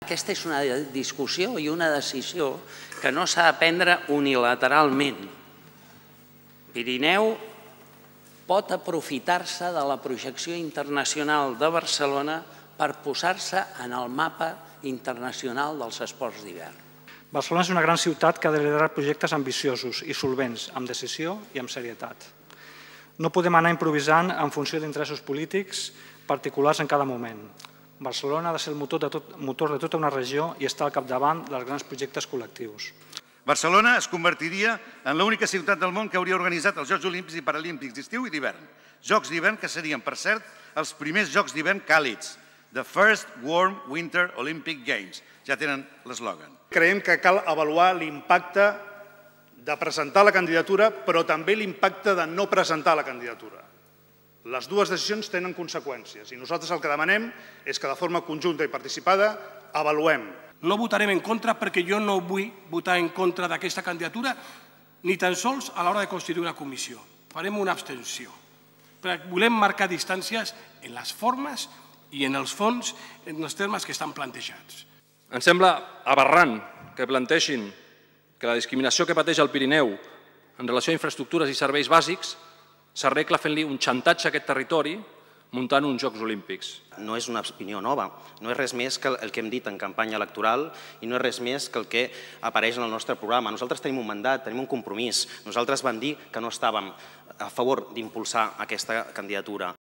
Aquesta és una discussió i una decisió que no s'ha de prendre unilateralment. Pirineu pot aprofitar-se de la projecció internacional de Barcelona per posar-se en el mapa internacional dels esports d'hivern. Barcelona és una gran ciutat que ha de liderar projectes ambiciosos i solvents, amb decisió i amb serietat. No podem anar improvisant en funció d'interessos polítics particulars en cada moment. Barcelona ha de ser el motor de tota una regió i estar al capdavant dels grans projectes col·lectius. Barcelona es convertiria en l'única ciutat del món que hauria organitzat els Jocs Olímpics i Paralímpics d'estiu i d'hivern. Jocs d'hivern que serien, per cert, els primers Jocs d'hivern càlids. The First Warm Winter Olympic Games. Ja tenen l'eslògan. Creiem que cal avaluar l'impacte de presentar la candidatura, però també l'impacte de no presentar la candidatura. Les dues decisions tenen conseqüències i nosaltres el que demanem és que de forma conjunta i participada avaluem. No votarem en contra perquè jo no vull votar en contra d'aquesta candidatura ni tan sols a l'hora de constituir una comissió. Farem una abstenció. Perquè volem marcar distàncies en les formes i en els fons, en els termes que estan plantejats. Ens sembla aberrant que plantegin que la discriminació que pateix el Pirineu en relació a infraestructures i serveis bàsics s'arregla fent-li un xantatge a aquest territori muntant uns Jocs Olímpics. No és una opinió nova, no és res més que el que hem dit en campanya electoral i no és res més que el que apareix en el nostre programa. Nosaltres tenim un mandat, tenim un compromís. Nosaltres vam dir que no estàvem a favor d'impulsar aquesta candidatura.